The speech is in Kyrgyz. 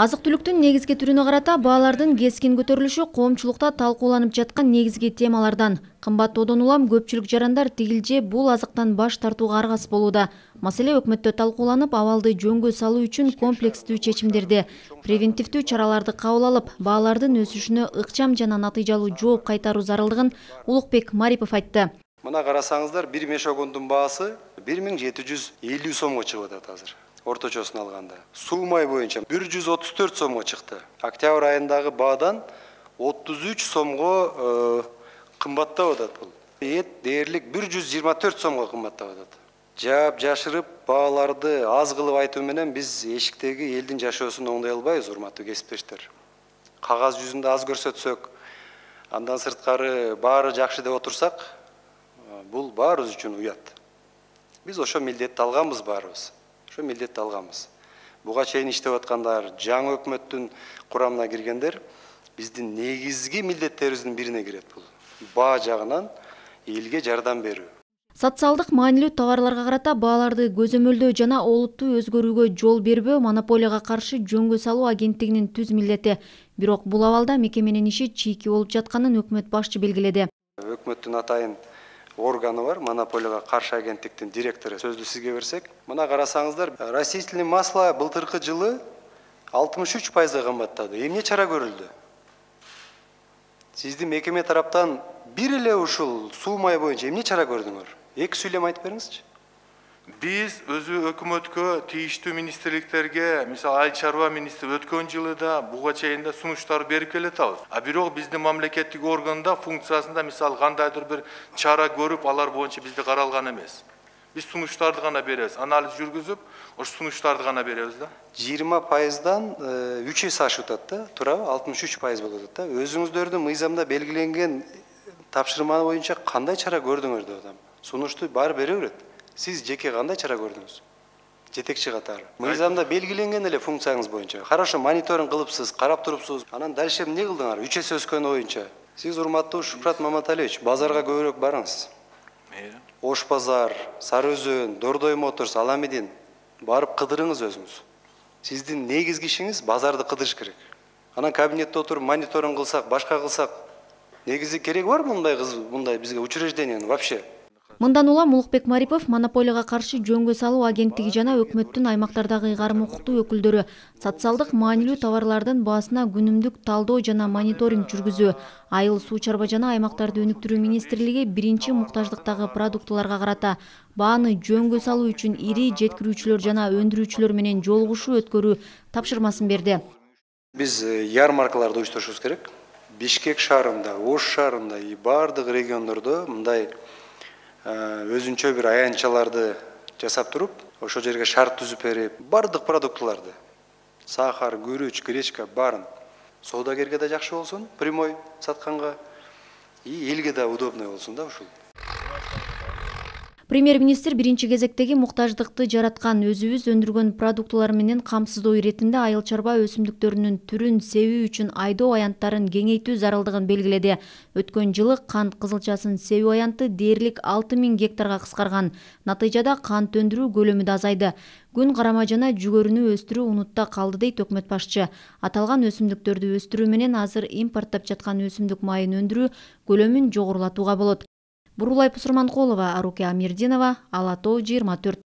Азык-түлүктүн негизги түрүнө карата баалардын кескин көтөрүлүшү коомчулукта талкууланып жаткан негизги темалардан. Кымбат одон улам көпчүлүк жарандар тигилже бул азыктан баш тартууга аргасыз болууда. Маселе өкмөттө талкууланып, абалды жөнгө салуу үчүн комплекстүү чечимдерди, превентивдүү чараларды кабыл алып, баалардын өсүшүнө ыкчам жана натыйжалуу жооп кайтаруу зарылдыгын Улукбек Марипов айтты. Мына карасаңыздар, бир мешогондун баасы 1750 сомго чыгып атат азыр. Орточосун алганда. Суу май боюнча 134 сомго чыкты. Октябрь айындагы баадан 33 сомго кымбаттап атат бул. Эт дээрлик 124 сомго кымбаттап атат. Жаап жашырып бааларды аз кылып айтуу менен биз эшиктеги элдин жашоосун оңдой албайбыз, урматтуу кесиптештер. Кагаз жүзүндө аз көрсөтсөк, андан сырткары баары жакшы деп отурсак, бул баарыбыз үчүн уят. Биз ошо милдетти алганбыз баарыбыз. Ошо милдетти алганбыз. Буга чейин иштеп аткандар, жаңы өкмөттүн курамына киргендер биздин негизги милдеттерибиздин бирине кирет бул. Баа жагынан элге жардам берүү. Социалдык маанилүү товарларга карата бааларды көзөмөлдөө жана олуттуу өзгөрүүгө жол бербөө монополияга каршы жөнгө салуу агенттигинин түз милдети. Бирок бул абалда мекеменин иши чийки болуп жатканын өкмөт башчы белгиледи. Өкмөттүн атайын органы бар, монополияга каршы агенттиктин директору. Сөздү сизге берсек, мына карасаңыздар, растительный масло былтыркы жылы 63% кымбаттады. Эмне чара көрүлдү? Сиздин мекеме тараптан бир эле ушул суу май боюнча эмне чара көрдүңөр? Эки сүйлөм айтып бериңизчи. Биз өзү өкмөткө, тийиштүү министрликтерге, мисалы Айыл чарба министри өткөн жылы да буга чейин да сунуштар берип келатабыз. А бирок биздин мамлекеттик органда функциясында мисалы кандайдыр бир чара көрүп, алар боюнча бизде каралган эмес. Биз сунуштарды гана беребиз, анализ жүргүзүп, ошо сунуштарды гана беребиз да. 20%дан 3 эсе ашып атат да, туурабы? 63% болуп атат да. Өзүңүздөрдүн мыйзамда белгиленген тапшырма боюнча кандай чара көрдүңөр деп атам. Сунушту баары бере берет. Сиз жеке кандай чара көрдүңүз? Жетекчи катары. Мыйзамда белгиленген эле функцияңыз боюнча. Хорошо, мониторинг кылыпсыз, карап турупсуз. Анан дальше эмне кылдыңар? 3 эсе өскөн боюнча. Сиз урматтуу Шукрат Маматалиевич, базарга көбүрөөк барыңыз. Ош базар, Сары Өзөн, Дордой Моторс, Аламедин барып кыдырыңыз өзүңүз. Сиздин негизги ишиңиз базарды кыдырыш керек. Анан кабинетте отуруп мониторинг кылсак, башка кылсак, негизи кереги бар мындай бизге учреждениянын вообще? Мындан улам Улукбек Марипов монополияга каршы жөнгө салуу агенттиги жана өкмөттүн аймактардагы ыйгарым укуктуу өкүлдөрү социалдык маанилүү товарлардын баасына күнүмдүк талдоо жана мониторинг жүргүзүү, айыл суу чарба жана аймактарды өнүктүрүү министрлиги биринчи муктаждыктагы продуктыларга карата бааны жөнгө салуу үчүн ири жеткирүүчүлөр жана өндүрүүчүлөр менен жолугушуу өткөрүү тапшырмасын берди. Биз ярмаркаларды уюштурушубуз керек. Бишкек шаарында, Ош шаарында и бардык региондордо мындай өзүнчө бир аянтчаларды жасап туруп, ошол жерге шарт түзүп берип, бардык продуктыларды, сахар, күрүч, гречка баарын соодагерге да жакшы болсун, прямой сатканга, и элге да удобный болсун да ушул. Премьер-министр биринчи кезектеги муктаждыкты жараткан өзүбүз өндүргөн продуктылар менен камсыздоо иретинде айыл чарба өсүмдүктөрүнүн түрүн себүү үчүн айдоо аянттарын кеңейтүү зарылдыгын белгиледи. Өткөн жылы кант кызылчасын себүү аянты дээрлик 6000 гектарга кыскарган. Натыйжада кант өндүрүү көлөмү да азайды. Күн карама жана жүгөрүнү өстүрүү унутта калды дейт өкмөт башчы. Аталган өсүмдүктөрдү өстүрүү менен азыр импорттоп жаткан өсүмдүк майын өндүрүү көлөмүн жогорулатууга болот. Бурулай Пусурманкулова, Аруке Амирдинова, Ала Тоо 24.